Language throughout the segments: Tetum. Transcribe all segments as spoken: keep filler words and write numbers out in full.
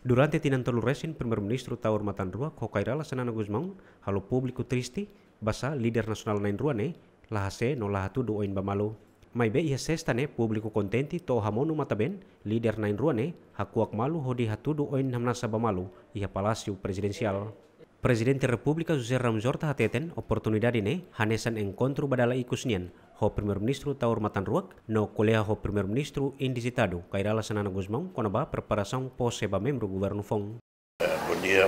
Durante tinan tolu resin, Primeiru-Ministru Taur Matan Ruak ho Kay Rala Xanana Gusmão halo públiku triste, basá líder nasionál na'in-rua ne'e la hase'e no la hatudu oin ba malu. Maibé iha Sesta ne'e públiku kontente to'o hamonu matan-been líder na'in-rua ne'e hakuak malu hodi hatudu oin hamnasa ba malu iha Palásiu Prezidensiál. Prezidente Repúblika José Ramos Horta hateten oportunidade ne'e hanesan enkontru ba dala ikus nian ho Primeiru-Ministru Taur Matan Ruak no ko'alia ho Primeiru-Ministru indizitadu Kay Rala Xanana Gusmão kona-ba preparasaun pose ba membru governu foun. Eh, bom dia.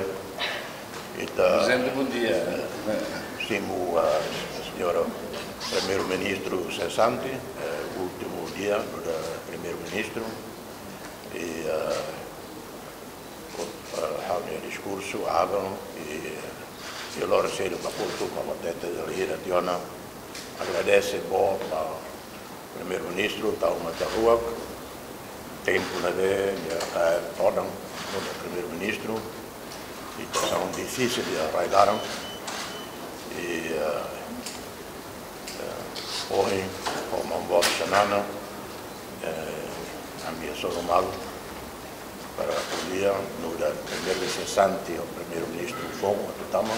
Ita, Prezidente, bom dia. Simu, ah, señora Primeiru-Ministru sesante, eh, últimu dia nu'udar Primeiru-Ministru. I, ah, ah, ha'u-nia diskursu aban i, i loron seluk ba kultu ba batete dalhira tiona. Agradese boot ba Primeiru-Ministru Taur Matan Ruak, tempu ne'ebé nia kaer todan nu'udar Primeiru-Ministru, situasaun difisil iha rai laran. I, eh, eh, ohin, ho maun boot Xanana, eh, ami hasoru malu para ko'alia nu'udar Primeiru sesante ho Primeiru-Ministru foun atu tama.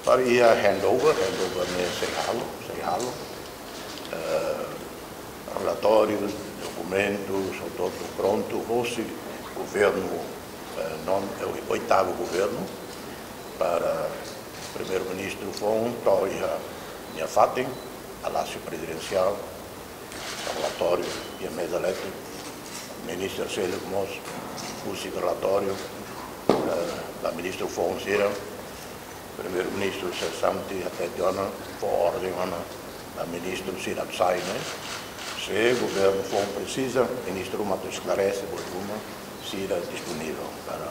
Para iha handover, handover ne'e sei halo, sei halo. Eh, relatóriu, dokumentu, hotu-hotu prontu, hosi governu, eh, non, eh, oitavu governu, para Primeiru-Ministru foun to'o iha nia fatin, Palásiu Prezidensiál, relatóriu iha meza leten, ministru seluk mós husik relatóriu, eh, ba ministru foun sira, Primeiru-Ministru sesante hatete ona, fó orden ona ba ministru sira atu sai, ne'e. Se governu foun presiza, ministru ruma atu esklarese buat ruma, sira disponivel para.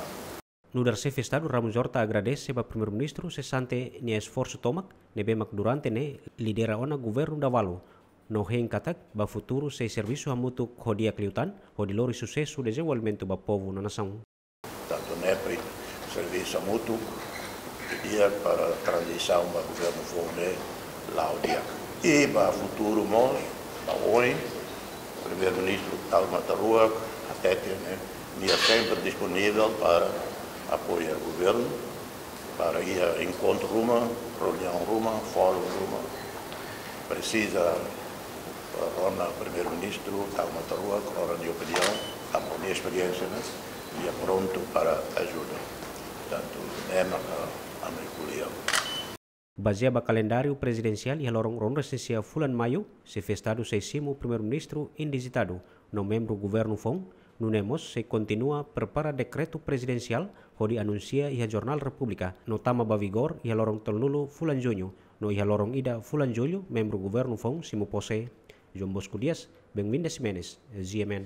Nu'udar Xefe Estadu, Ramos Horta agradese ba Primeiru-Ministru sesante nia esforsu tomak ne'ebé mak durante ne'e lidera ona governu dala balu, no hein katak ba futuru sei servisu hamutuk ho di'ak liután hodi lori susesu dezenvolvimentu ba povu no nasaun. Tantu NEPRI servisu hamutuk di'ak para tranzisaun ba governu foun ne'e la'o di'ak. I ba futuru mós, ba oin, Primeiru-Ministru Taur Matan Ruak hatete, ne'e, nia sempre disponivel para apoia governu, para iha enkontru ruma, reuniaun ruma, fórum ruma. Presiza, eh, rona Primeiru-Ministru Taur Matan Ruak, rona nia opiniaun, tanba nia esperiénsia, ne'e, nia prontu para ajuda. Portantu, ne'e maka ami ko'alia. Bazeia ba kalendáriu prezidensiál, iha loron ruanulu-resin-sia fulan Maiu, Xefe Estadu sei simu Primeiru-Ministru indizitadu no membru governu foun, nune'e mós sei kontinua prepara dekretu prezidensiál hodi anunsia iha Jornál Repúblika no tama ba vigór iha loron tolunulu fulan Juñu, no iha loron ida fulan Jullu membru governu foun simu pose. João Bosco Dias, Benvinda Ximenes, G M N.